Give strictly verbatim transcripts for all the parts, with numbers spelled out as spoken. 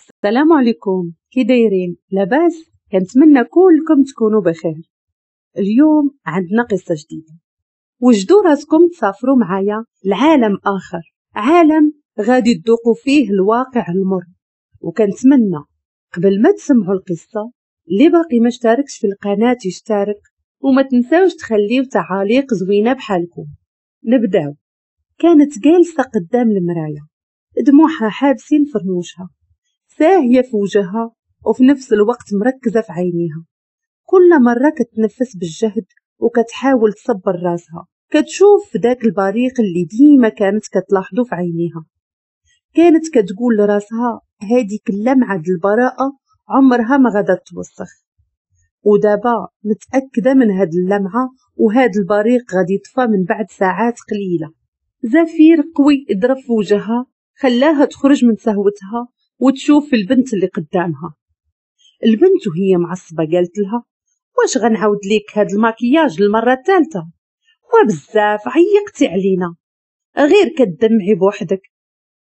السلام عليكم، كي دايرين؟ لاباس؟ كنتمنى كلكم تكونوا بخير. اليوم عندنا قصة جديدة، وجدوا راسكم تسافروا معايا لعالم آخر، عالم غادي تذوقوا فيه الواقع المر. وكنتمنى قبل ما تسمعوا القصة اللي باقي ما اشتركش في القناة يشترك، وما تنساوش تخليو تعاليق زوينة بحالكم. نبداو. كانت جالسة قدام المراية، دموعها حابسين في رموشها، ساهية في وجهها وفي نفس الوقت مركزة في عينيها. كل مرة كتنفس بالجهد وكتحاول تصبر راسها، كتشوف في ذاك البريق اللي ديما كانت كتلاحظو في عينيها. كانت كتقول لراسها هذيك اللمعة د البراءة عمرها ما غادا توسخ، ودابا متأكدة من هاد اللمعة وهاد البريق غادي يطفى من بعد ساعات قليلة. زفير قوي ضرب في وجهها خلاها تخرج من سهوتها وتشوف البنت اللي قدامها. البنت وهي معصبة قالت لها واش غنعاود ليك هاد الماكياج للمرة الثالثة؟ وبزاف عيقتي علينا، غير كدمعي بوحدك.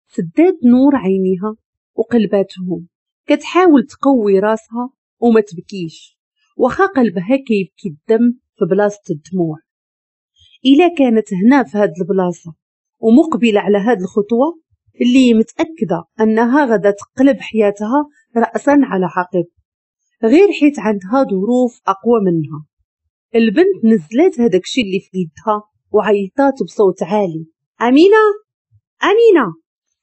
سدات نور عينيها وقلباتهم، كتحاول تقوي راسها وما تبكيش، واخا قلبها كيبكي الدم في بلاصة الدموع. إلا كانت هنا في هاد البلاصة ومقبلة على هاد الخطوة اللي متأكدة أنها غدا تقلب حياتها رأسا على عقب، غير حيت عندها ظروف أقوى منها. البنت نزلت هداك الشيء اللي في يدها وعيطات بصوت عالي، أمينة أمينة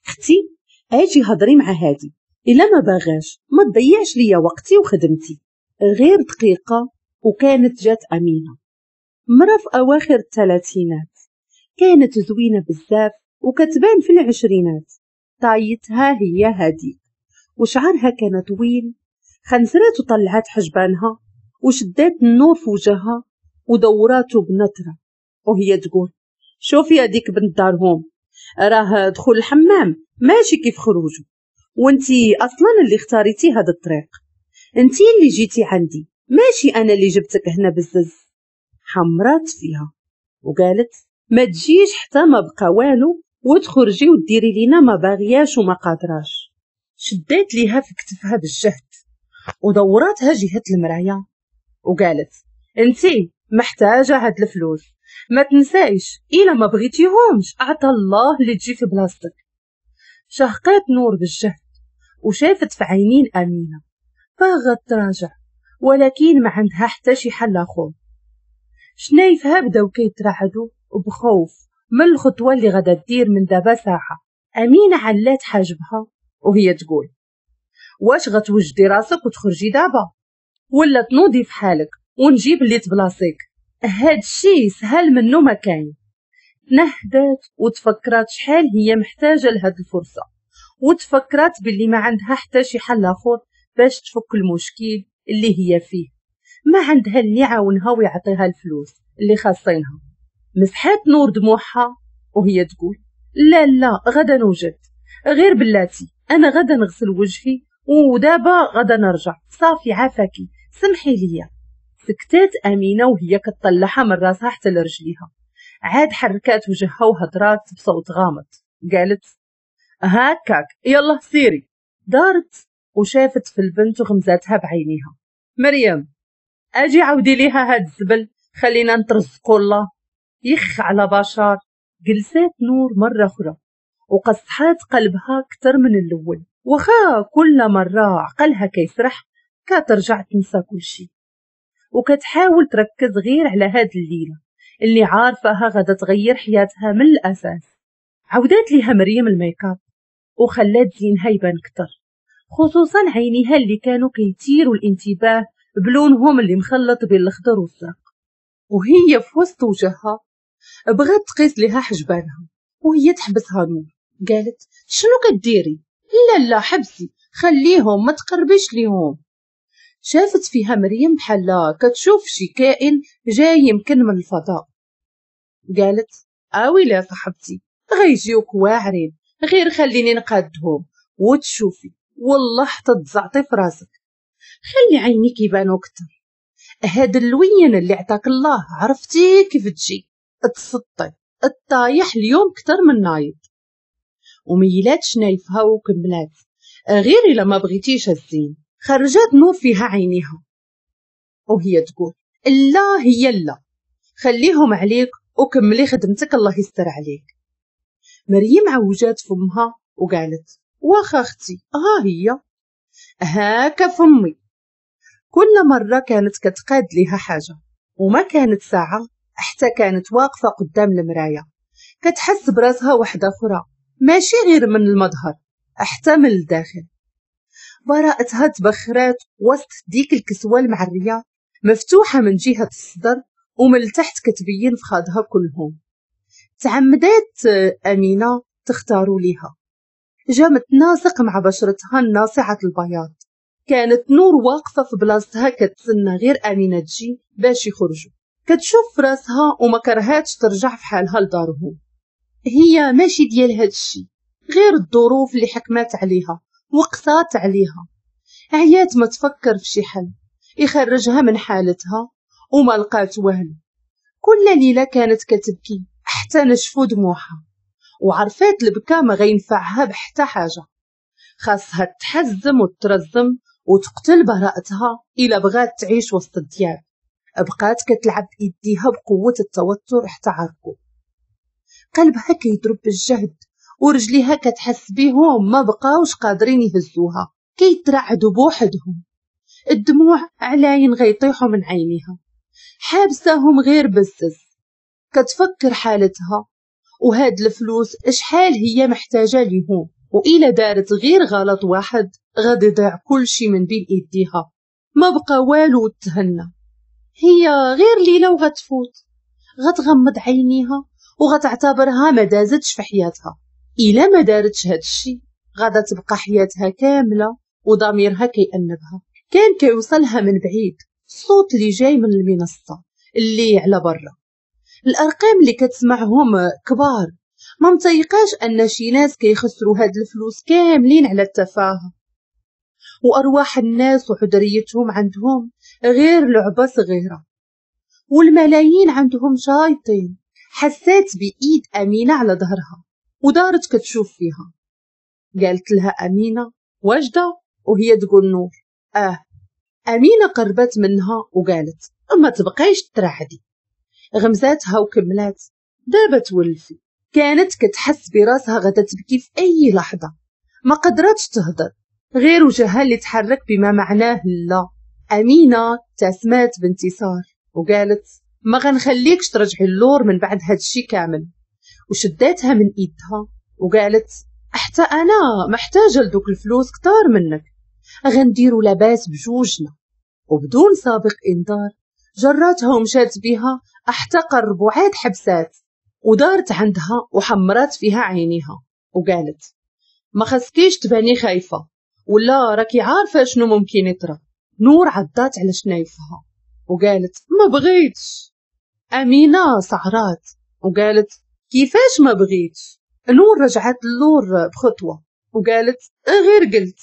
اختي اجي هضري مع هادي، إلا ما باغاش ما تضيعش ليا وقتي وخدمتي. غير دقيقة وكانت جات أمينة، مرة في أواخر الثلاثينات، كانت زوينة بزاف وكتبان في العشرينات، طايتها هي هاديك وشعرها كان طويل. خنزرات وطلعات حجبانها وشدات النور في وجهها ودوراتو بنطرة وهي تقول شوفي هاديك بنت دارهم، راه دخول الحمام ماشي كيف خروجه، وانتي اصلا اللي اختاريتي هذا الطريق، انتي اللي جيتي عندي ماشي انا اللي جبتك هنا بزز. حمرات فيها وقالت ما تجيش حتى ما بقى والو وتخرجي وديري لينا ما باغياش وما قادراش. شدات ليها في كتفها بالجهد ودوراتها جهة المراية وقالت انتي محتاجة هاد الفلوس، ما تنسايش إلا ما بغيتيهمش أعطى الله اللي تجي في بلاصتك. شهقات نور بالجهد وشافت في عينين أمينة باغت تراجع، ولكن ما عندها حتى شي حل آخر. شنايفها بداو كيترعدوا بخوف من الخطوة اللي غادا دير من دابا ساعة. أمينة علات حاجبها وهي تقول واش غتوجدي راسك وتخرجي دابا ولا تنوضي في حالك ونجيب اللي تبلاصيك؟ هاد الشي سهل منو ما كاين. تنهدات وتفكرات شحال هي محتاجة لهاد الفرصة، وتفكرات باللي ما عندها حتى شي حل آخر باش تفك المشكل اللي هي فيه، ما عندها اللي يعاونها ويعطيها الفلوس اللي خاصينها. مسحات نور دموعها وهي تقول لا لا غدا نوجد، غير بلاتي انا غدا نغسل وجهي ودابا غدا نرجع، صافي عافاكي سمحي ليا. سكتات امينه وهي كتطلعها من راسها حتى لرجليها، عاد حركات وجهها وهضرات بصوت غامض قالت هاكاك يلا سيري. دارت وشافت في البنت وغمزاتها بعينيها، مريم اجي عاودي ليها هاد الزبل خلينا نترزقوا الله يخ على بشر. جلسات نور مرة أخرى وقصحات قلبها كتر من الأول، وخا كل مرة عقلها كيسرح كترجع تنسى كل شيء، وكتحاول تركز غير على هاد الليلة اللي عارفاها غادا تغير حياتها من الأساس. عودات ليها مريم الميكاب وخلات زينها يبان كتر، خصوصا عينيها اللي كانوا كيثيروا الانتباه بلونهم اللي مخلط بين الخضر والزرق. وهي في وسط وجهها بغات تقيس لها حجبانها وهي تحبسها نور، قالت شنو كديري؟ لا لا حبسي خليهم ما تقربيش ليهم. شافت فيها مريم بحال كتشوف شي كائن جاي يمكن من الفضاء، قالت اويلي يا صاحبتي غيجيوك واعرين، غير خليني نقادهم وتشوفي والله حتى تزعطي في راسك، خلي عينيك يبانو كتر، هاد اللوين اللي عطاك الله عرفتي كيف تجي تسطي الطايح اليوم كتر من نايض. وميلات شنايفها وكملات غير إلا ما بغيتيش الزين. خرجت نور فيها عينيها وهي تقول لا هي لا، خليهم عليك وكملي خدمتك الله يستر عليك. مريم عوجات فمها وقالت واخا اختي ها هي هاكا فمي. كل مرة كانت كتقاد ليها حاجة، وما كانت ساعة حتى كانت واقفة قدام المراية كتحس براسها وحدة أخرى، ماشي غير من المظهر حتى من الداخل. براءتها تبخرات وسط ديك الكسوة المعرية مفتوحة من جهة الصدر ومن التحت كتبين فخادها كلهم. تعمدات أمينة تختاروا ليها، جا متناسق مع بشرتها الناصعة البياض. كانت نور واقفة في بلاصتها كتسنى غير أمينة تجي باش يخرجوا. كتشوف راسها وما كرهاتش ترجع في حالها لدارهم. هي ماشي ديال هادشي، غير الظروف اللي حكمات عليها وقصات عليها. عيات ما تفكر في شي حل يخرجها من حالتها وما لقات والو. كل ليلة كانت كتبكي حتى نشفوا دموعها، وعرفات البكا ما غينفعها بحتى حاجة. خاصها تحزم وترزم وتقتل براءتها إلا بغات تعيش وسط الدياب. بقات كتلعب بإيديها بقوة التوتر حتى عرقوا. قلبها كيضرب بالجهد ورجليها كتحس بيهم ما بقاوش قادرين يهزوها، كيترعدوا بوحدهم. الدموع علاين غيطيحوا من عينيها، حابساهم غير بزز. كتفكر حالتها وهاد الفلوس شحال هي محتاجة ليهم، وإلا دارت غير غلط واحد غادي يضيع كل شي من بين ايديها. ما بقى والو وتهنى، هي غير ليلة وغتفوت، غتغمض عينيها وغتعتبرها ما دازتش في حياتها. إلا ما دارتش هاد الشي غادا تبقى حياتها كاملة وضميرها كيأنبها. كان كيوصلها من بعيد الصوت اللي جاي من المنصة اللي على برا، الأرقام اللي كتسمعهم كبار. ما متيقاش أن شي ناس كيخسروا هاد الفلوس كاملين على التفاهة، وأرواح الناس وحضريتهم عندهم غير لعبة صغيرة، والملايين عندهم شايطين. حسات بإيد أمينة على ظهرها ودارت كتشوف فيها. قالت لها أمينة واجدة؟ وهي تقول نور آه. أمينة قربت منها وقالت ما تبقيش ترعدي. غمزاتها وكملات دابا تولفي. كانت كتحس براسها غدا تبكي في أي لحظة، ما قدرتش تهضر، غير وجهها اللي تحرك بما معناه لا. أمينة تسمات بانتصار وقالت ما غنخليكش ترجعي اللور من بعد هادشي كامل. وشداتها من ايدها وقالت حتى انا محتاجه لدوك الفلوس كتار منك، غنديروا لاباس بجوجنا. وبدون سابق انذار جراتها ومشات بها حتى قربوا عاد حبسات، ودارت عندها وحمرات فيها عينيها وقالت ما خصكيش تباني خايفة، ولا راكي عارفه شنو ممكن يطرى. نور عضات على شنايفها وقالت ما بغيتش. أمينة سعرات وقالت كيفاش ما بغيتش؟ نور رجعت اللور بخطوة وقالت غير قلت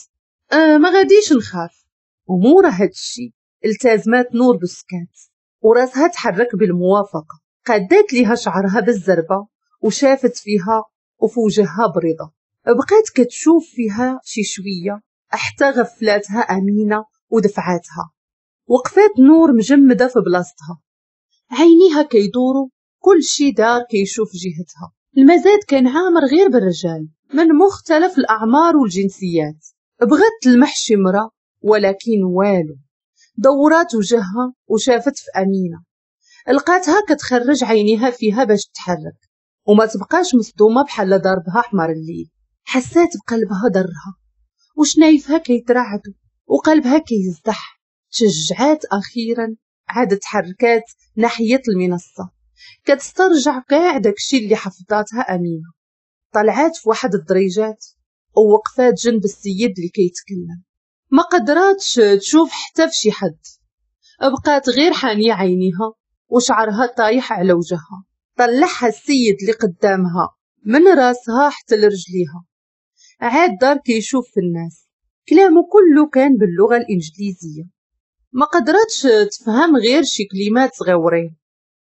أه ما غاديش نخاف. ومورا هادشي التزمات نور بالسكات وراسها تحرك بالموافقة. قادات ليها شعرها بالزربة وشافت فيها وفي وجهها برضا. بقات كتشوف فيها شي شوية حتى غفلاتها أمينة ودفعاتها. وقفات نور مجمدة في بلاصتها، عينيها كيدوروا، كل شي دار كيشوف جهتها. المزاد كان عامر غير بالرجال من مختلف الأعمار والجنسيات. بغت تلمح شي مرا ولكن والو. دورات وجهها وشافت في أمينة، لقاتها كتخرج عينيها فيها باش تتحرك وما تبقاش مصدومة بحال ضربها حمر الليل. حسات بقلبها ضرها وشنايفها كيترعدوا وقلبها كيزدح. تشجعات أخيرا، عادت تحركات ناحية المنصة كتسترجع كاع داكشي اللي حفظاتها أمينة. طلعات في واحد الدريجات ووقفات جنب السيد اللي كيتكلم، ما قدراتش تشوف حتى في شي حد، بقات غير حانية عينيها وشعرها طايح على وجهها. طلعها السيد اللي قدامها من راسها حتى لرجليها. عاد دار كيشوف في الناس، كلامه كله كان باللغة الإنجليزية، ما قدرتش تفهم غير شي كلمات صغيورين.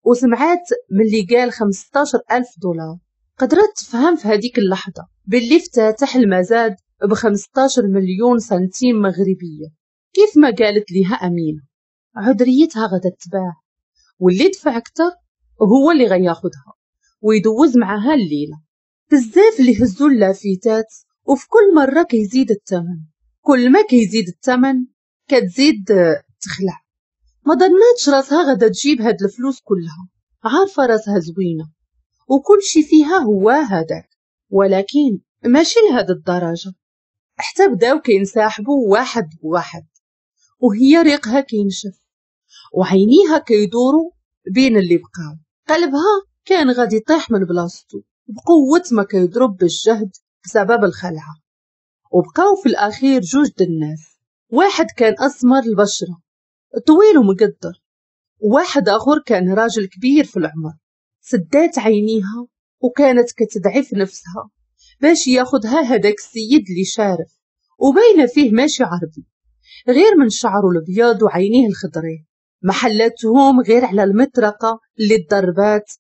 وسمعات ملي قال خمسطاش ألف دولار، قدرت تفهم في هذيك اللحظة باللي افتتح المزاد بخمسطاش مليون سنتيم مغربية كيف ما قالت ليها أمينة. عذريتها غدا تباع، واللي دفع أكتر هو اللي غياخدها ويدوز معها الليلة. بزاف اللي هزوا اللافتات، وفي كل مرة كيزيد الثمن، كل ما كيزيد الثمن كتزيد تخلع. ما ظناتش راسها غدا تجيب هاد الفلوس كلها، عارفة راسها زوينة وكل شي فيها هو هذاك، ولكن ماشي لهاد الدرجة. حتى بداو كينسحبوا واحد بواحد، وهي ريقها كينشف وعينيها كيدوروا بين اللي بقاو. قلبها كان غادي يطيح من بلاصتو بقوة ما كيضرب بالجهد بسبب الخلعة. وبقاو في الأخير جوج د الناس، واحد كان أسمر البشرة طويل ومقدر، وواحد آخر كان راجل كبير في العمر. سدات عينيها وكانت كتدعي في نفسها باش ياخدها هداك السيد اللي شارف وباينه فيه ماشي عربي، غير من شعره الابيض وعينيه الخضرين. ما حلتهم غير على المطرقة اللي تضربات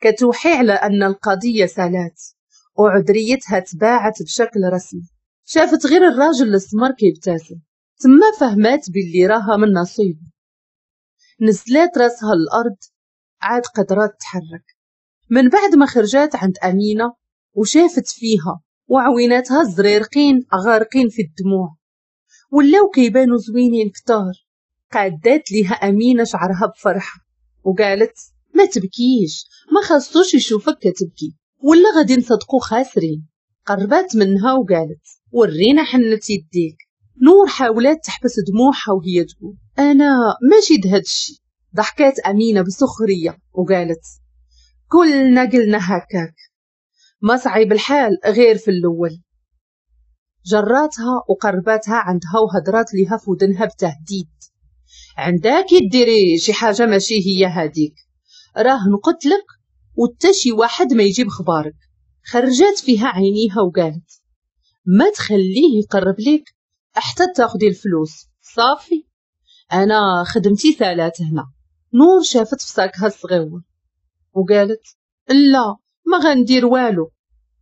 كتوحي على ان القضية سالات وعذريتها تباعت بشكل رسمي. شافت غير الراجل الاسمر كيبتسم، تما فهمات باللي راها من نصيبه. نزلات راسها للارض، عاد قدرات تحرك. من بعد ما خرجات عند امينه وشافت فيها وعويناتها الزريرقين غارقين في الدموع، ولاو كيبانوا زوينين كتار. قادات ليها امينه شعرها بفرحة وقالت ما تبكيش، ما خاصوش يشوفك كتبكي ولا غادي نصدقو خاسرين. قربات منها وقالت ورينا حنة يديك. نور حاولت تحبس دموعها وهي تقول انا ماشي دهاد الشي. ضحكات امينه بسخريه وقالت كلنا قلنا هكاك، ما صعيب الحال غير في الاول. جراتها وقرباتها عندها وهدرات ليها في ودنها بتهديد، عندك ديري شي حاجة ماشي هي هاديك، راه نقتلك وتا شي واحد ما يجيب خبارك. خرجات فيها عينيها وقالت ما تخليه يقرب ليك حتى تاخدي الفلوس، صافي انا خدمتي ثلاث هنا. نور شافت في ساكها الصغير وقالت لا ما غندير والو.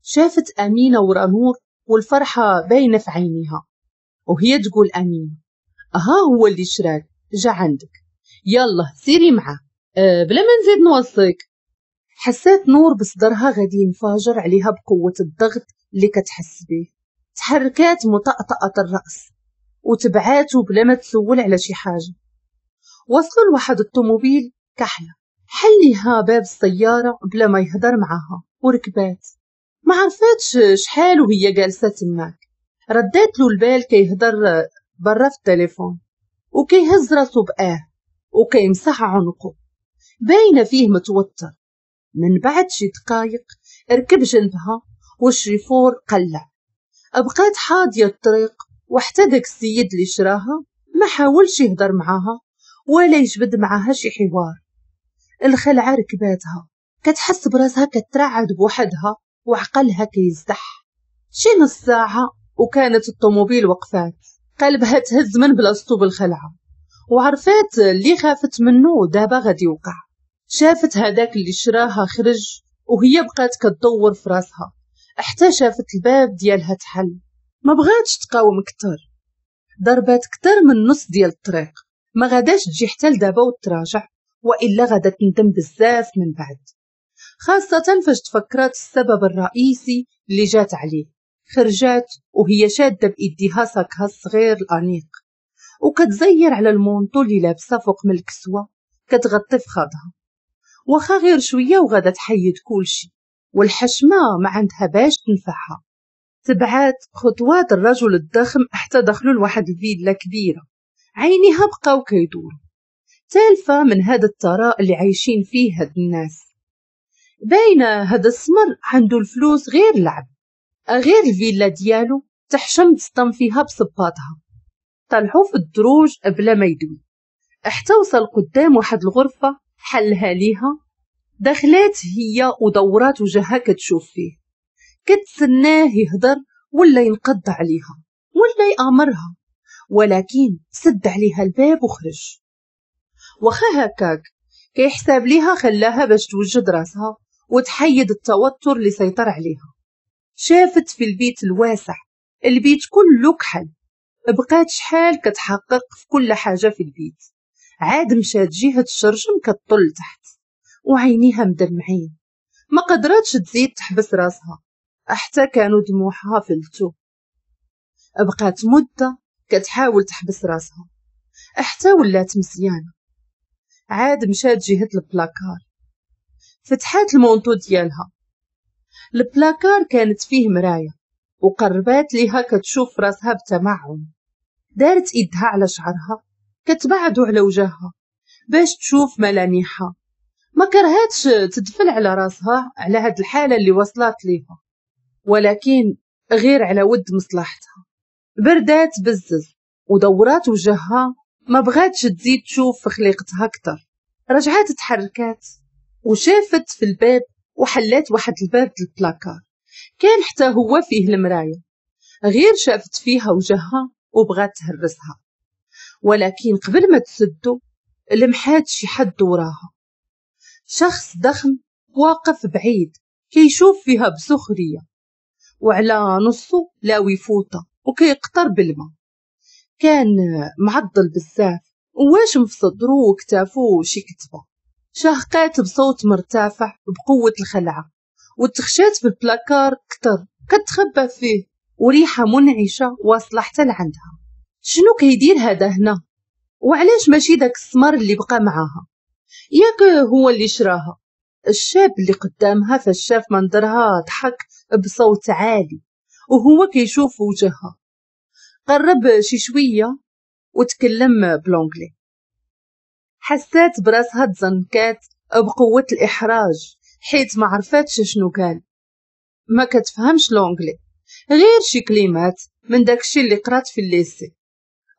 شافت امينه ورا نور والفرحه باينة في عينيها وهي تقول امينه ها هو اللي شراك جا عندك، يلا سيري معاه أه بلا ما نزيد نوصيك. حسات نور بصدرها غادي ينفجر عليها بقوة الضغط اللي كتحس به. تحركات مطأطأة الرأس وتبعاتو بلا ما تسول على شي حاجة. وصلوا لواحد الطوموبيل كحلة، حليها باب السيارة بلا ما يهدر معاها وركبات. ما عرفاتش شحال وهي جالسة تماك. ردات له البال كيهدر برا في التليفون وكيهز راسو بآه وكيمسح عنقه، باينة فيه متوتر. من بعد شي دقايق ركب جنبها والشيفور قلع. بقات حاضيه الطريق، وحتى داك السيد اللي شراها ما حاولش يهدر معاها ولا يجبد معاها شي حوار. الخلعة ركباتها، كتحس براسها كترعد بوحدها وعقلها كيزدح. شي نص ساعة وكانت الطوموبيل وقفات، قلبها تهز من بلاصتو بالخلعه، وعرفات اللي خافت منه دابا غادي يوقع. شافت هذاك اللي شراها خرج وهي بقات كتدور في راسها حتى شافت الباب ديالها تحل. ما بغاتش تقاوم كتر، ضربات كتر من نص ديال الطريق، ما غاداش تجي حتى لدابا وتراجع، والا غادا تندم بزاف من بعد، خاصة فاش تفكرات السبب الرئيسي اللي جات عليه. خرجات وهي شاده بايديها ساكها الصغير الانيق وكتزير على ال manteau اللي لابسه فوق من الكسوة كتغطي فخاضها، واخا غير شوية وغادا تحيد كلشي، والحشمه ما عندها باش تنفعها. تبعات خطوات الرجل الضخم حتى دخلوا لواحد الفيلا كبيرة، عينيها بقاو كيدوروا تالفه من هذا الثراء اللي عايشين فيه هاد الناس. باينة هذا السمر عنده الفلوس غير لعب، غير الفيلا ديالو تحشم تصطم فيها بصباطها. طلعوا في الدروج بلا ما يدوي حتى وصل قدام واحد الغرفة حلها ليها. دخلات هي ودورات وجهها كتشوف فيه، كتسناه يهدر ولا ينقض عليها ولا يامرها، ولكن سد عليها الباب وخرج. واخا هكاك كيحساب ليها خلاها باش توجد راسها وتحيد التوتر اللي سيطر عليها. شافت في البيت الواسع البيت كله كحل. بقات شحال كتحقق في كل حاجة في البيت. عاد مشات جهة الشرجم كتطل تحت وعينيها مدمعين، ما قدرتش تزيد تحبس راسها حتى كانوا دموعها فلتو. بقات مدة كتحاول تحبس راسها حتى ولات مزيانة. عاد مشات جهة البلاكار، فتحات ال manteau ديالها. البلاكار كانت فيه مراية وقربات ليها كتشوف راسها بتمعن. دارت ايدها على شعرها كتبعدو على وجهها باش تشوف ملامحها. ما كرهاتش تدفل على راسها على هاد الحالة اللي وصلت ليها، ولكن غير على ود مصلحتها. بردات بزز ودورات وجهها، ما بغاتش تزيد تشوف في خليقتها اكثر. رجعات تحركات وشافت في الباب وحلات واحد الباب البلاكار كان حتى هو فيه المراية. غير شافت فيها وجهها وبغات تهرسها، ولكن قبل ما تسدو لمحات شي حد وراها، شخص ضخم واقف بعيد كيشوف فيها بسخرية، وعلى نصه لاوي فوطة وكيقطر بالماء. كان معضل بزاف وواشم في صدرو وكتافو شي كتبة. شهقات بصوت مرتفع بقوة الخلعة وتخشات في البلاكار كتر كتخبى فيه، وريحة منعشة واصلة حتى لعندها. شنو كيدير هذا هنا؟ وعلاش ماشي داك السمر اللي بقى معاها؟ ياك هو اللي شراها. الشاب اللي قدامها فشاف منظرها ضحك بصوت عالي وهو كيشوف وجهها. قرب شي شوية وتكلم ب l'anglais. حسات براسها تزنكات بقوة الإحراج حيت ما عرفاتش شنو قال. ما كتفهمش l'anglais، غير شي كلمات من داكشي اللي قرات في ال lycée.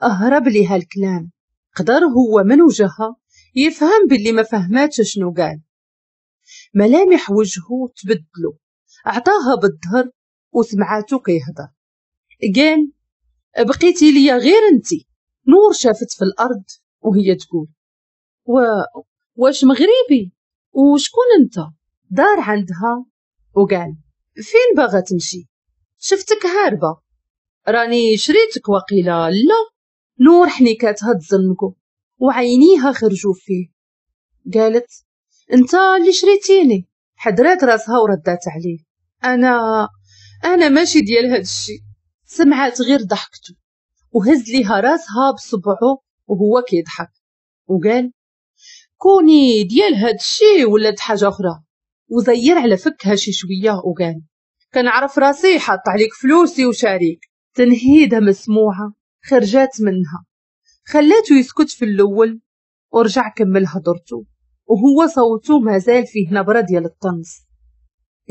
اهرب ليها الكلام. قدر هو من وجهها يفهم باللي ما فهماتش شنو قال. ملامح وجهه تبدلو، اعطاها بالظهر وسمعاتو كيهضر. قال بقيتي ليا غير انتي. نور شافت في الارض وهي تقول و... واش مغربي؟ وشكون انت؟ دار عندها وقال فين باغا تمشي؟ شفتك هاربه، راني شريتك وقيله لا. نور حنيكاتها تزنقو وعينيها خرجوا فيه. قالت انت اللي شريتيني. حدرات راسها وردات عليه انا انا ماشي ديال هاد الشيء. سمعات غير ضحكته وهز ليها راسها بصبعه وهو كيضحك وقال كوني ديال هاد الشيء ولا حاجة اخرى. وزير على فكها شي شوية وقال كنعرف راسي حاط عليك فلوسي وشاريك. تنهيده مسموعة خرجات منها خلاته يسكت في الاول ورجع كمل هضرته وهو صوته مازال فيه نبره ديال الطنز.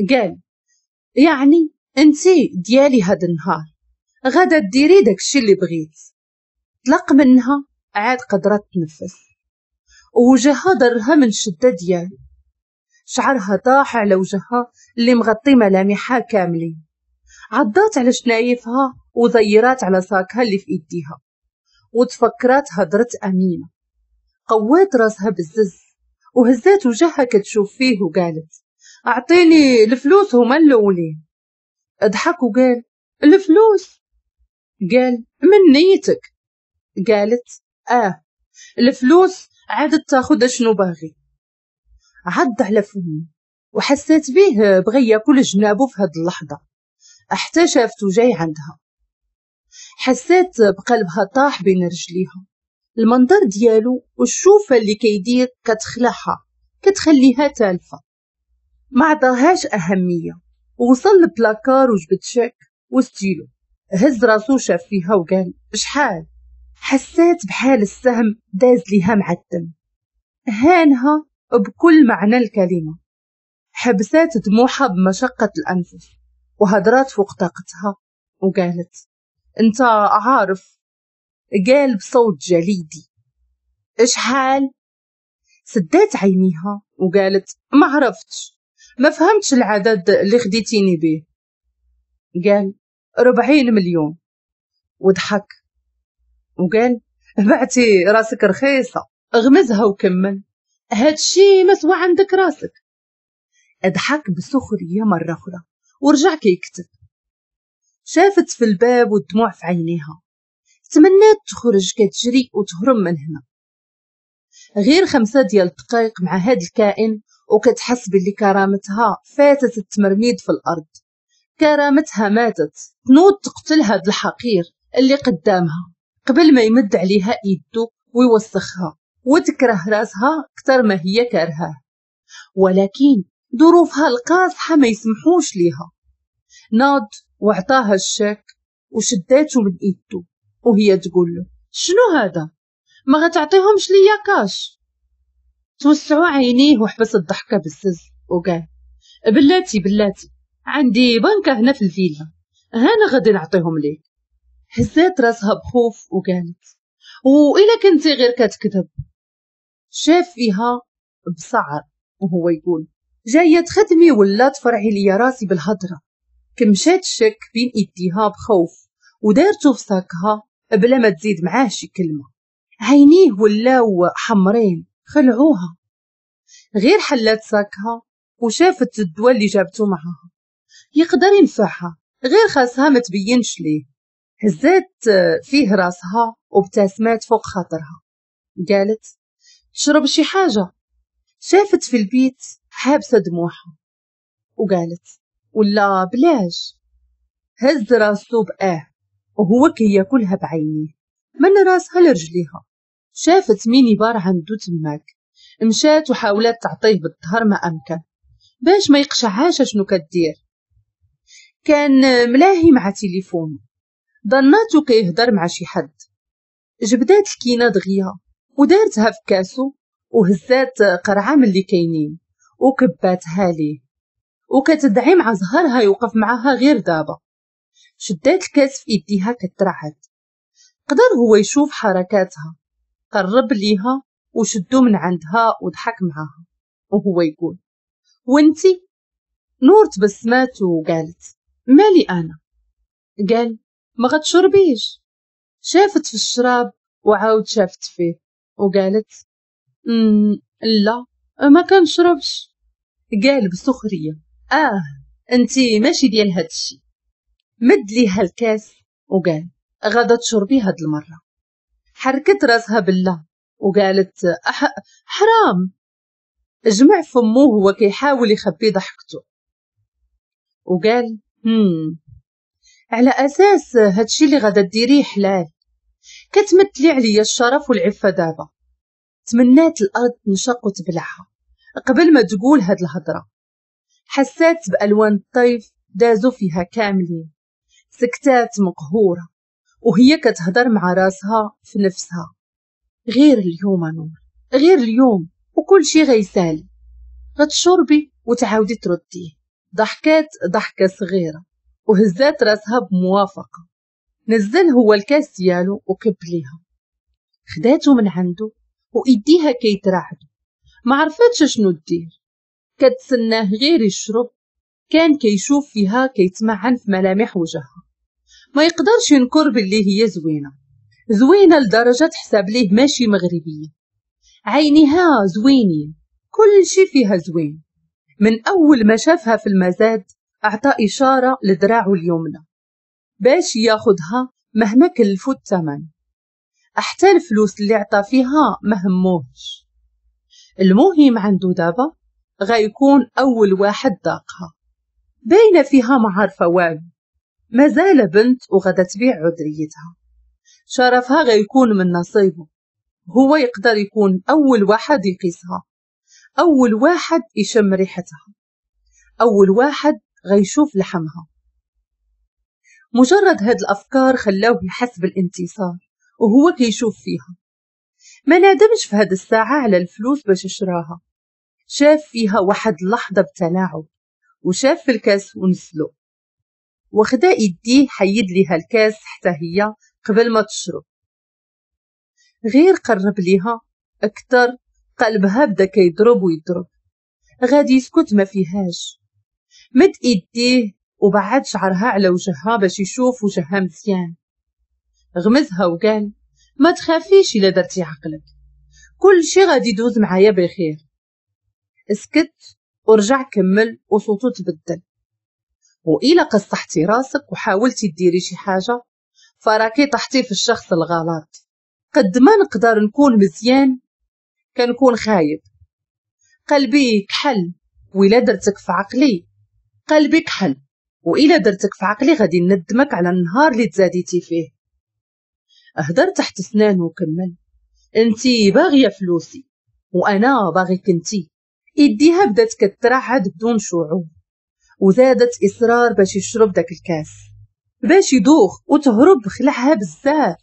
قال يعني انتي ديالي هاد النهار، غادا ديري داكشي اللي بغيت. طلق منها عاد قدرت تنفس ووجهها ضرها من الشدة ديالو. شعرها طاح على وجهها اللي مغطي ملامحها كاملين. عضات على شنايفها وزيرات على ساكها اللي في ايديها وتفكرات هضرة امينه. قوات راسها بالزز وهزات وجهها كتشوف فيه وقالت اعطيني الفلوس هما الاولين. اضحك وقال الفلوس؟ قال من نيتك؟ قالت اه الفلوس عادت تاخذ شنو باغي. عض على فمه وحسات به بغى ياكل جنابه في هاد اللحظة حتى شافته جاي عندها. حسات بقلبها طاح بين رجليها. المنظر ديالو والشوفه اللي كيدير كتخلعها كتخليها تالفه. ما عطاهاش اهمية. وصل للبلاكار وجبد شيك وستيلو. هز راسو شاف فيها وقال شحال؟ حسات بحال السهم داز ليها مع الدم. هانها بكل معنى الكلمة. حبسات دموعها بمشقة الانفس وهدرات فوق طاقتها وقالت انت عارف. قال بصوت جليدي اشحال؟ سدات عينيها وقالت ما عرفتش، ما فهمتش العدد اللي خديتيني به. قال ربعين مليون. وضحك وقال بعتي راسك رخيصة. غمزها وكمل هادشي ما سوى عندك راسك. اضحك بسخرية مرة أخرى ورجع كيكتب. شافت في الباب والدموع في عينيها، تمنات تخرج كتجري وتهرب من هنا. غير خمسة ديال الدقائق مع هاد الكائن وكتحس باللي كرامتها فاتت التمرميد في الأرض، كرامتها ماتت. تنوض تقتل هاد الحقير اللي قدامها قبل ما يمد عليها ايدو ويوسخها، وتكره راسها اكثر ما هي كارهاه، ولكن ظروفها القاصحة ما يسمحوش ليها. ناض وعطاها الشاك وشداتو من ايدو وهي تقول له شنو هذا؟ ما غتعطيهمش ليا كاش؟ توسعوا عينيه وحبس الضحكة بالسز وقال بلاتي بلاتي، عندي بنكة هنا في الفيلا، هانا غادي نعطيهم ليك. هزات راسها بخوف وقالت وإلا كنتي غير كتكذب. شاف فيها بصعر وهو يقول جاية تخدمي ولا تفرعي لي راسي بالهضرة؟ كمشات الشك بين ايديها بخوف ودارته في ساكها بلا ما تزيد معاه شي كلمة. عينيه ولاو حمرين خلعوها. غير حلات ساكها وشافت الدواء اللي جابته معاها يقدر ينفعها، غير خاصها ما تبينش ليه. هزات فيه راسها وابتسمات فوق خاطرها، قالت تشرب شي حاجة؟ شافت في البيت حابسة دموعها وقالت ولا بلاش. هز راسو بآه وهو كياكلها بعينيه من راسها لرجليها. شافت ميني بار عنده تماك، مشات وحاولت تعطيه بالظهر ما أمكن باش ما يقشعهاش شنو كدير. كان ملاهي مع تليفونه، ظناتو كيهضر مع شي حد. جبدات الكينه دغيا ودارتها في كاسو وهزات قرعه من اللي كاينين وكباتها ليه، وكتدعي مع زهرها يوقف معاها غير دابا. شدات الكاس في ايديها كترعد، قدر هو يشوف حركاتها، قرب ليها وشدو من عندها وضحك معاها وهو يقول وانتي؟ نور تبسمات وقالت مالي انا؟ قال ما غتشربيش؟ شافت في الشراب وعاود شافت فيه وقالت لا ما كنشربش. قال بسخريه اه انتي ماشي ديال هادشي. مد ليها الكاس وقال غادا تشربي هاد المرة. حركت راسها بالله وقالت أح... حرام. جمع فمو هو كيحاول يخبي ضحكته وقال هم على اساس هادشي اللي غادا ديريه حلال، كتمثلي عليا الشرف والعفة دابا. تمنات الارض تنشق وتبلعها قبل ما تقول هاد الهضرة. حسات بالوان الطيف دازو فيها كاملين. سكتات مقهوره وهي كتهضر مع راسها في نفسها، غير اليوم نور، غير اليوم وكل شي غيسالي، غتشربي وتعاودي ترديه. ضحكات ضحكه صغيرة وهزات راسها بموافقة. نزل هو الكاس ديالو وكب ليها، خداتو من عنده وايديها كيترعدو، ما عرفتش شنو دير، كتسناه غير يشرب. كان كيشوف فيها كيتمعن في ملامح وجهها، ما يقدرش ينكر باللي هي زوينة، زوينة لدرجة تحسب ليه ماشي مغربية. عينيها زوينين، كل شي فيها زوين. من اول ما شافها في المزاد اعطى اشارة لدراعه اليمنى باش ياخدها مهما كلفو الثمن، حتى الفلوس اللي عطى فيها ما هموهش. المهم عنده دابا غيكون اول واحد ذاقها. باينة فيها ما عارفه والو، مازال بنت وغدا تبيع عذريتها، شرفها غيكون من نصيبه. هو يقدر يكون اول واحد يقيسها، اول واحد يشم ريحتها، اول واحد غيشوف لحمها. مجرد هاد الافكار خلاوه يحس بالانتصار وهو كيشوف فيها. ما نادمش في هاد الساعة على الفلوس باش شراها. شاف فيها واحد اللحظة بتلاعب وشاف في الكاس ونسلو، وخدا ايديه حيد ليها الكاس حتى هي قبل ما تشرب. غير قرب ليها اكثر قلبها بدا كيضرب ويضرب، غادي يسكت ما فيهاش. مد ايديه وبعد شعرها على وجهها باش يشوف وجهها مزيان. غمزها وقال ما تخافيش الا درتي عقلك، كل شي غادي يدوز معايا بخير. اسكت ورجع كمل وصوته تبدل، وإلا قصحتي راسك وحاولتي ديري شي حاجة فراكي طحتي في الشخص الغلط. قد ما نقدر نكون مزيان كنكون خايب. قلبي كحل وإلا درتك في عقلي، قلبي كحل وإلا درتك في عقلي غادي ندمك على النهار اللي تزاديتي فيه. اهدر تحت سنانه وكمل، انتي باغية فلوسي وانا باغيك انتي. ايديها بدات كترعد بدون شعور، وزادت اصرار باش يشرب داك الكاس باش يدوخ وتهرب. خلعها بزاف،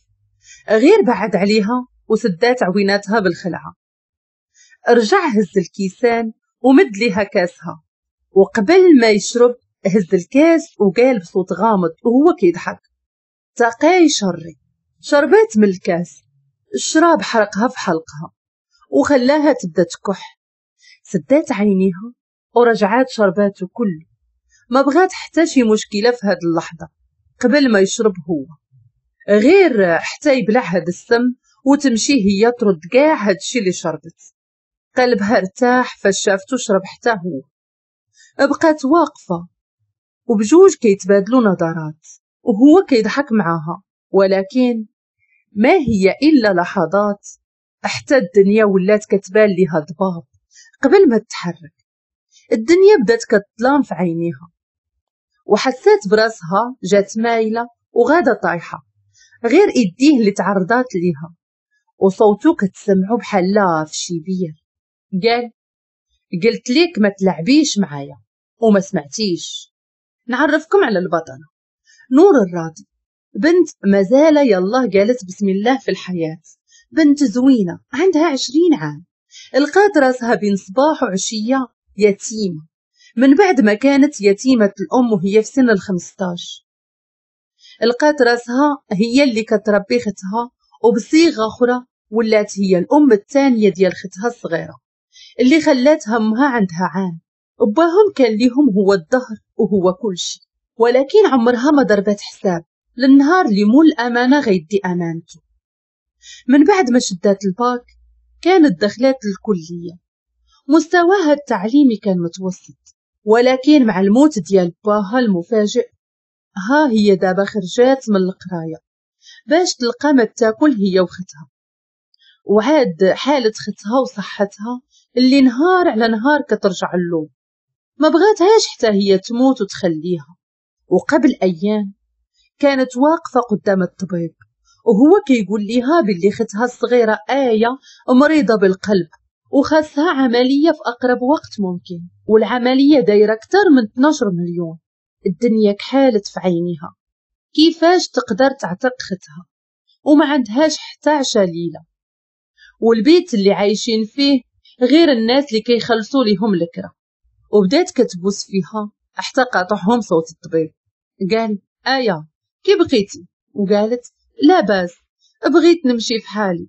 غير بعد عليها وسدات عويناتها بالخلعه. رجع هز الكيسان ومد ليها كاسها، وقبل ما يشرب هز الكاس وقال بصوت غامض وهو كيضحك، تقاي شري. شربات من الكاس، الشراب حرقها في حلقها وخلاها تبدا تكح. سدات عينيها ورجعات شرباته كله، ما بغات حتى شي مشكلة في هاد اللحظة قبل ما يشرب هو، غير حتى يبلع هاد السم وتمشي هي ترد كاع هاد الشي اللي شربت. قلبها ارتاح فاش شافتو شرب حتى هو. بقات واقفة وبجوج كيتبادلوا نظرات وهو كيضحك معاها، ولكن ما هي إلا لحظات حتى الدنيا ولات كتبان ليها ضباب. قبل ما تتحرك الدنيا بدات كتظلام في عينيها، وحسات براسها جات مايلة وغاده طايحة، غير ايديه اللي تعرضات ليها وصوتو كتسمعو بحال لا في شي بير. قال قلت ليك ما تلعبيش معايا وما سمعتيش. نعرفكم على البطلة نور الراضي، بنت مازال يالله قالت بسم الله في الحياة، بنت زوينة عندها عشرين عام، لقات راسها بين صباح وعشية يتيمة من بعد ما كانت يتيمة الأم وهي في سن الخمسطاش. لقات راسها هي اللي كتربي ختها، وبصيغة أخرى ولات هي الأم الثانية ديال ختها الصغيرة اللي خلاتها أمها عندها عام. باهم كان ليهم هو الظهر وهو كل شيء، ولكن عمرها ما ضربت حساب للنهار اللي مول الأمانة غيدي أمانته. من بعد ما شدات الباك كانت دخلات للكلية، مستواها التعليمي كان متوسط، ولكن مع الموت ديال باها المفاجئ ها هي دابا خرجات من القراية باش تلقى ما تاكل هي وختها. وعاد حالة ختها وصحتها اللي نهار على نهار كترجع اللوم، ما بغاتهاش حتى هي تموت وتخليها. وقبل أيام كانت واقفة قدام الطبيب وهو كيقول ليها باللي ختها الصغيرة آية مريضة بالقلب وخاصها عملية في أقرب وقت ممكن، والعملية دايرة أكثر من اثنا عشر مليون. الدنيا كحالت في عينيها، كيفاش تقدر تعتق ختها وما عندهاش حتى عشا ليلة، والبيت اللي عايشين فيه غير الناس اللي كيخلصوا ليهم الكرا. وبدات كتبوس فيها حتى قاطعهم صوت الطبيب. قال آية كي بقيتي؟ وقالت لا باس، بغيت نمشي في حالي.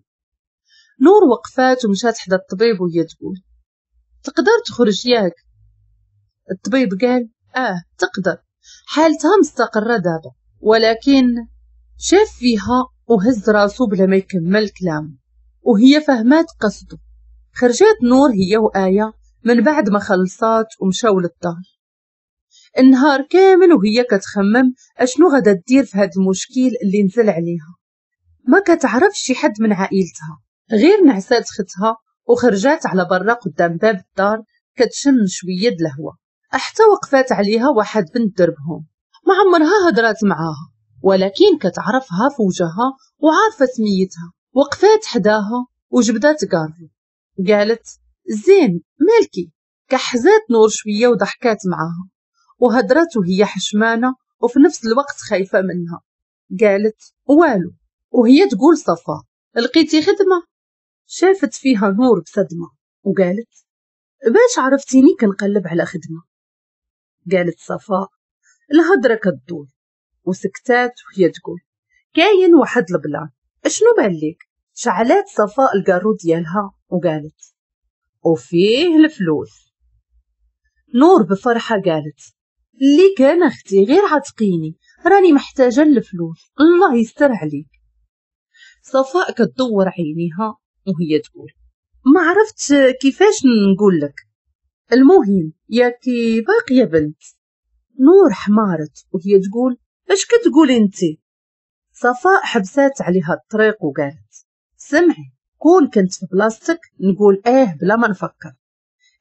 نور وقفات ومشات حدا الطبيب وهي تقول تقدر تخرج ياك؟ الطبيب قال اه تقدر، حالتها مستقرة دابا. ولكن شاف فيها وهز راسو بلا ما يكمل كلامه، وهي فهمات قصده. خرجات نور هي وآية من بعد ما خلصات ومشاو للدار. النهار كامل وهي كتخمم اشنو غادا دير في هاد المشكل اللي نزل عليها. ما كتعرفش شي حد من عائلتها، غير نعسات ختها وخرجات على برا قدام باب الدار كتشم شوية د الهوا، حتى وقفات عليها واحد بنت دربهم ما عمرها هضرات معاها، ولكن كتعرفها في وجهها وعارفه سميتها. وقفات حداها وجبدات كارو، قالت زين مالكي؟ كحزات نور شوية وضحكات معاها وهضرات وهي حشمانه وفي نفس الوقت خايفة منها. قالت والو، وهي تقول صفا لقيتي خدمة؟ شافت فيها نور بصدمة وقالت باش عرفتيني كنقلب على خدمة؟ قالت صفاء الهضرة كدور، وسكتات وهي تقول كاين واحد ال plan، اشنو بان لك؟ شعلات صفاء الكارو ديالها وقالت وفيه الفلوس. نور بفرحة قالت اللي كان اختي غير عتقيني، راني محتاجه للفلوس، الله يستر عليك. صفاء كتدور عينيها وهي تقول ما عرفت كيفاش نقول لك، المهم ياكي باقية بنت. نور حمارت وهي تقول اش كتقولي انتي؟ صفاء حبسات عليها الطريق وقالت سمعي، كون كنت في بلاصتك نقول اه بلا ما نفكر،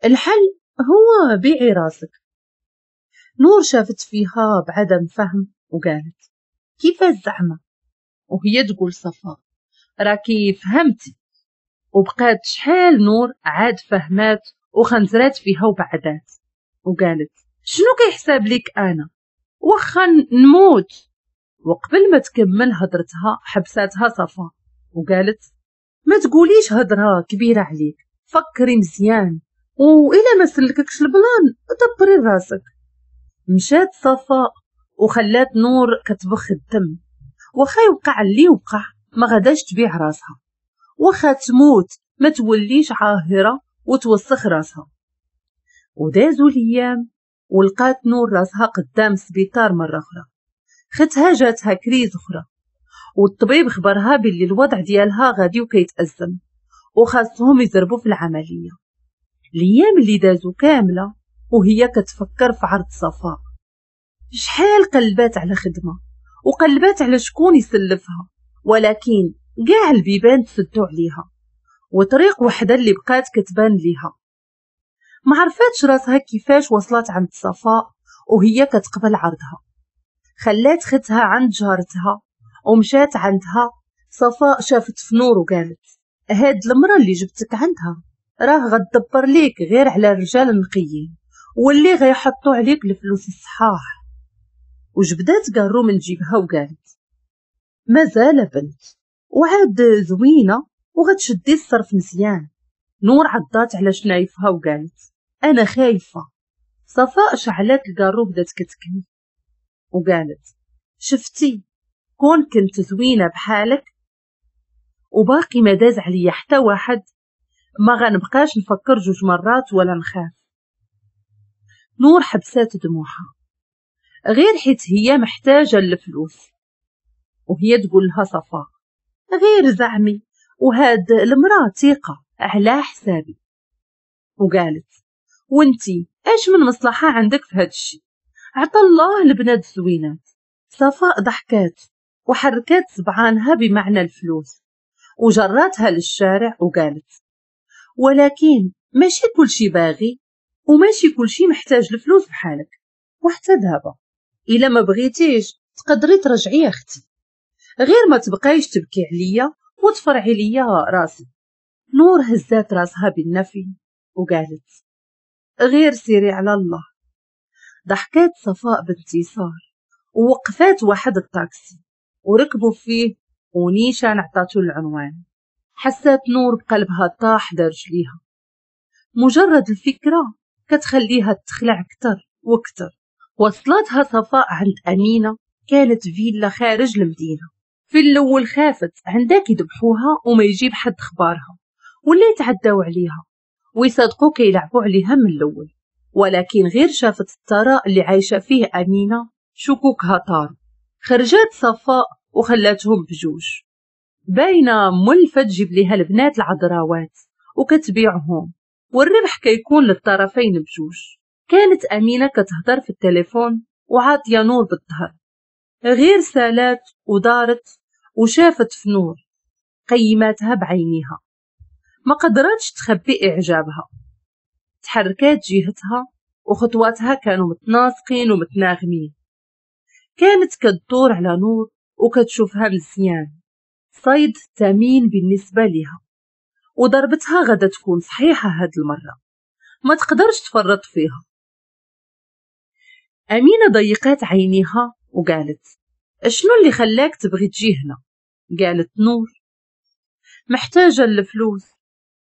الحل هو بيعي راسك. نور شافت فيها بعدم فهم وقالت كيفاش زعما؟ وهي تقول صفاء راكي فهمتي. وبقات شحال نور عاد فهمات وخنزرات فيها وبعدات وقالت شنو كيحساب لك انا؟ واخا نموت. وقبل ما تكمل هضرتها حبساتها صفاء وقالت ما تقوليش هضره كبيرة عليك، فكري مزيان، وإلا ما سلككش ال plan دبري راسك. مشات صفاء وخلات نور كتبخ الدم، واخا يوقع اللي وقع ما غاداش تبيع راسها، واخا تموت ما توليش عاهره وتوسخ راسها. ودازوا الايام ولقات نور راسها قدام سبيطار مرة اخرى، ختها جاتها crise اخرى، والطبيب خبرها باللي الوضع ديالها غادي وكيتأزم وخاصهم يزربوا في العملية. الايام اللي دازوا كاملة وهي كتفكر في عرض صفاء، شحال قلبات على خدمة وقلبات على شكون يسلفها، ولكن كاع البيبان تسدوا عليها وطريق وحده اللي بقات كتبان ليها. ما عرفاتش راسها كيفاش وصلت عند صفاء وهي كتقبل عرضها. خلات ختها عند جارتها ومشات عندها. صفاء شافت في نور وقالت هاد المرة اللي جبتك عندها راه غتدبر ليك غير على الرجال النقيين واللي غيحطوا عليك الفلوس الصحاح. وجبدات كارو من جيبها وقالت مازال بنت وعاد زوينة وغتشدي الصرف مزيان. نور عضات على شنايفها وقالت انا خايفة. صفاء شعلات الكارو بدات كتكمي وقالت شفتي كون كنت زوينة بحالك وباقي ما داز عليا حتى واحد ما غنبقاش نفكر جوج مرات ولا نخاف. نور حبسات دموعها غير حيت هي محتاجه للفلوس، وهي تقول لها صفاء غير زعمي وهاد المراة ثقة على حسابي. وقالت وانتي اش من مصلحة عندك في هاد الشيء؟ عطا الله البنات الزوينات. صفاء ضحكات وحركات صبعانها بمعنى الفلوس وجراتها للشارع وقالت ولكن ماشي كلشي باغي وماشي كلشي محتاج الفلوس بحالك، وحتى دابا الا ما بغيتيش تقدري ترجعي يا اختي، غير ما تبقايش تبكي عليا وتفرعي ليا راسي. نور هزات راسها بالنفي وقالت غير سيري على الله. ضحكات صفاء بانتصار ووقفات واحد الطاكسي وركبوا فيه ونيشان عطاتو العنوان. حسات نور بقلبها طاح رجليها، مجرد الفكرة كتخليها تخلع اكثر واكثر. وصلتها صفاء عند أمينة، كانت فيلا خارج المدينة. في الأول خافت عندك يذبحوها وما يجيب حد خبارها ولا يتعداو عليها ويصدقوا كيلعبوا عليها من الأول، ولكن غير شافت الثراء اللي عايشة فيه أمينة شكوكها طار. خرجت صفاء وخلاتهم بجوج، باينة ملفة تجيب ليها البنات العذراوات وكتبيعهم والربح كيكون للطرفين بجوج. كانت أمينة كتهضر في التليفون وعاطية نور بالظهر، غير سالات ودارت وشافت في نور قيماتها بعينيها، ما قدرتش تخبي إعجابها. تحركات جهتها وخطواتها كانوا متناسقين ومتناغمين. كانت كتدور على نور وكتشوفها مزيان، صيد ثمين بالنسبة لها، وضربتها غدا تكون صحيحة هاد المرة، ما تقدرش تفرط فيها. أمينة ضيقات عينيها وقالت شنو اللي خلاك تبغي تجي هنا؟ قالت نور محتاجة للفلوس.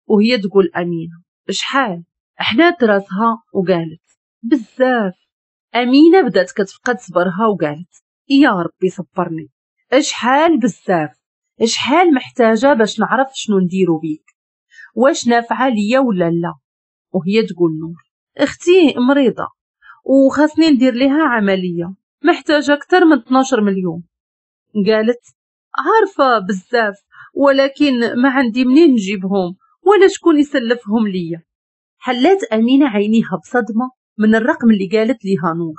وهي تقول أمينة شحال؟ حنات راسها وقالت بزاف. أمينة بدات كتفقد صبرها وقالت يا ربي صبرني، شحال بزاف، شحال محتاجة باش نعرف شنو نديرو بيك، واش نافعة ليا ولا لا؟ وهي تقول نور اختي مريضة وخاصني ندير ليها عملية، محتاجة أكثر من اثنا عشر مليون. قالت عارفة بزاف ولكن ما عندي منين نجيبهم ولا شكون يسلفهم ليا. حلات أمينة عينيها بصدمة من الرقم اللي قالت ليها نور.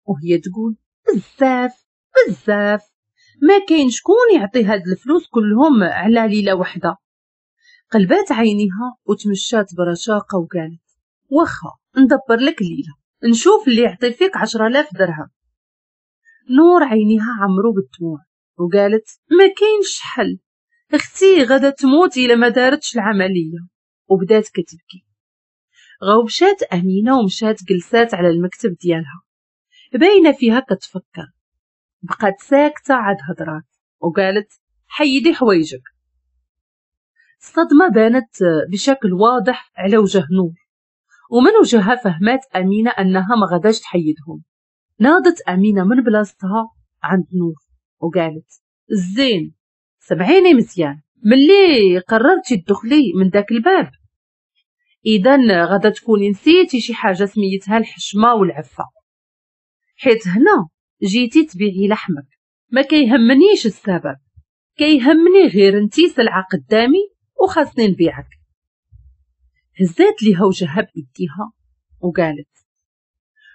وهي تقول بزاف بزاف، ما كاين شكون يعطي هاد الفلوس كلهم على ليلة وحده. قلبات عينيها وتمشات برشاقه وقالت واخا ندبر لك ليلة، نشوف اللي يعطي فيك عشرة آلاف درهم. نور عينيها عمرو بالدموع وقالت ما كاينش حل، اختي غادا تموت الا ما دارتش العملية، وبدات كتبكي. غوبشات امينه ومشات جلسات على المكتب ديالها باينة فيها كتفكر. بقات ساكته عاد هضرات وقالت حيدي حوايجك. الصدمة بانت بشكل واضح على وجه نور، ومن وجهها فهمات امينه انها ما غاداش تحيدهم. ناضت امينه من بلاصتها عند نور وقالت الزين سمعيني مزيان، ملي قررتي تدخلي من داك الباب اذا غادا تكوني نسيتي شي حاجة سميتها الحشمة والعفة، حيت هنا جيتي تبيعي لحمك. ما كيهمنيش السبب، كيهمني غير انتي سلعه قدامي وخاصني نبيعك. هزات ليها وجهها بيديها وقالت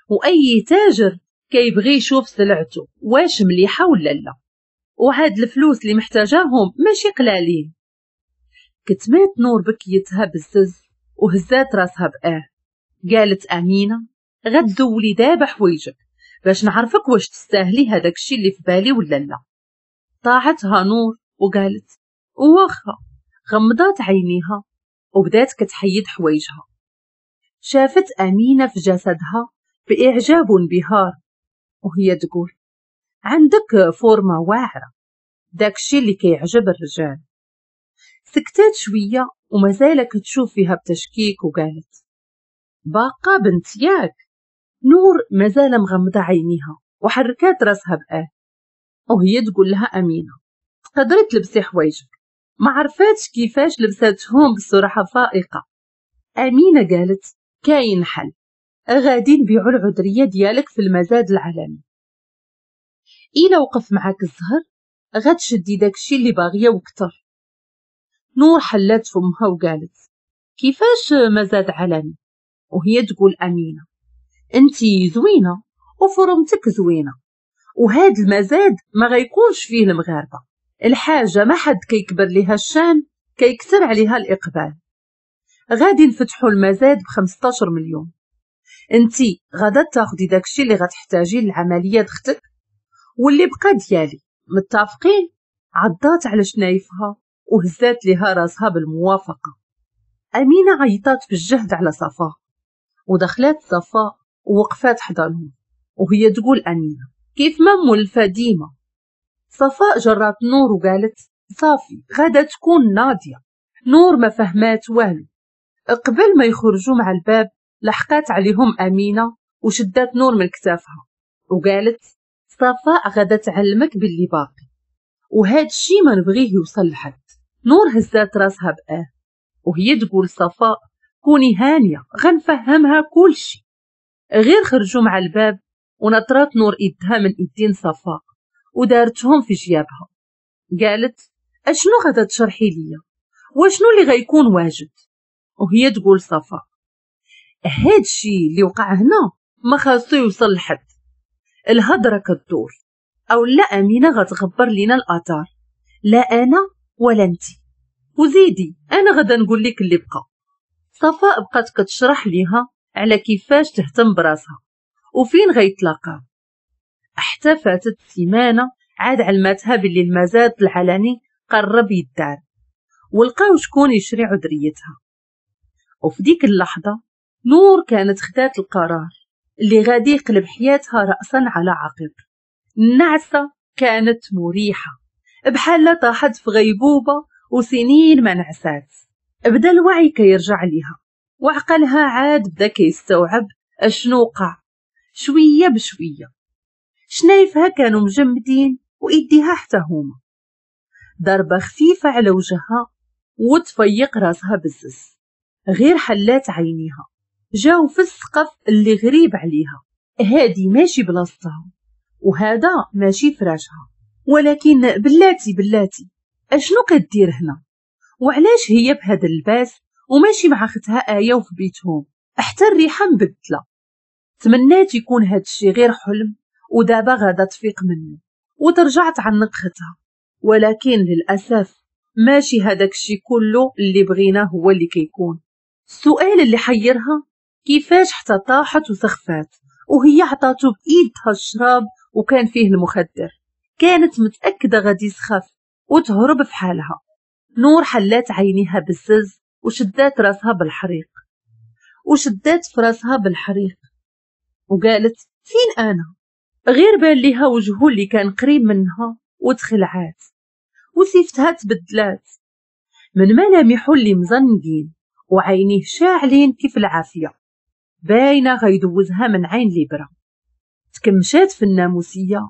واي تاجر كيبغي يشوف سلعته واش مليحة ولا لا، وهاد الفلوس اللي محتاجاهم ماشي قلالين. كتمات نور بكيتها بالزز وهزات راسها بآه. قالت امينه غتزولي دابا حوايجك باش نعرفك واش تستاهلي هذاك الشيء اللي في بالي ولا لا. طاعتها نور وقالت واخا. غمضات عينيها وبدات كتحيد حوايجها. شافت امينه في جسدها باعجاب وانبهار وهي تقول عندك فورمه واعرة، داكشي اللي كيعجب الرجال. سكتات شوية ومازال كتشوف فيها بتشكيك وقالت باقا بنت ياك. نور مازال مغمضه عينيها وحركات راسها بآه وهي تقول لها امينه تقدري تلبسي حوايجك. ما عرفاتش كيفاش لبساتهم بسرعة فائقة. امينه قالت كاين حل، غادي نبيعوا العذريه ديالك في المزاد العالمي، الا وقف معاك الزهر غتشدي داكشي اللي باغية وكتر. نور حلات فمها وقالت كيفاش مزاد عالمي؟ وهي تقول امينه انتي زوينة وفرمتك زوينة، وهاد المزاد ما غيكونش فيه المغاربة، الحاجة ما حد كيكبر ليها الشان كيكثر عليها الاقبال. غادي نفتحوا المزاد ب خمسطاش مليون، انتي غادا تاخدي داكشي اللي غتحتاجي للعملية دختك واللي بقى ديالي، متفقين؟ عضات على شنايفها وهزات ليها راسها بالموافقة. امينه عيطات بالجهد على صفاء ودخلات صفاء ووقفات حضنهم وهي تقول امينه كيف ما مولفه ديما. صفاء جرات نور وقالت صافي غادا تكون ناضيه. نور ما فهمات والو. قبل ما يخرجوا مع الباب لحقات عليهم امينه وشدات نور من كتافها وقالت صفاء غادا تعلمك باللي باقي، وهاد الشي ما نبغيه يوصل لحد. نور هزات راسها بآه وهي تقول صفاء كوني هانيه غنفهمها كل شي. غير خرجوا مع الباب ونطرات نور ايدها من ايدين صفاء ودارتهم في جيابها. قالت اشنو غادا تشرحي ليا واشنو اللي غيكون واجد؟ وهي تقول صفاء هاد الشي اللي وقع هنا ما خاصو يوصل لحد، الهضرة كدور او لا امينه غتغبر لينا الاثار، لا انا ولا انتي، وزيدي انا غادا نقول لك اللي بقى. صفاء بقات كتشرح ليها على كيفاش تهتم براسها وفين غيتلاقاو. حتى فاتت سيمانه عاد علماتها باللي المزاد العلني قرب يدار ولقاو شكون يشري عذريتها. وفي ديك اللحظة نور كانت خدات القرار اللي غادي يقلب حياتها راسا على عقب. النعسه كانت مريحه بحال طاحت في غيبوبة وسنين ما نعسات. بدا الوعي كيرجع ليها وعقلها عاد بدا كيستوعب اشنو وقع شوية بشوية. شنايفها كانوا مجمدين وايديها حتى هما. ضربه خفيفة على وجهها وتفيق راسها بزز. غير حلات عينيها جاو في السقف اللي غريب عليها، هادي ماشي بلاصتها وهذا ماشي فراشها، ولكن بلاتي بلاتي اشنو كدير هنا؟ وعلاش هي بهذا اللباس وماشي مع اختها آية وفي بيتهم؟ حتى الريحة مبدله. تمنات يكون هادشي غير حلم ودابا غادا تفيق منه وترجع تعنق ختها، ولكن للأسف ماشي هداك الشي كله اللي بغيناه هو اللي كيكون. السؤال اللي حيرها كيفاش حتى طاحت وسخفات وهي عطاتو بإيدها الشراب وكان فيه المخدر. كانت متأكدة غادي يسخف وتهرب في حالها. نور حلات عينيها بالزز وشدات راسها بالحريق وشدات في راسها بالحريق وقالت فين أنا؟ غير بان ليها وجهه اللي كان قريب منها وتخلعات وسيفتها تبدلات من ملامحه اللي مزنقين وعينيه شاعلين كيف العافية، باينة غيدوزها من عين لبرة. تكمشات في الناموسية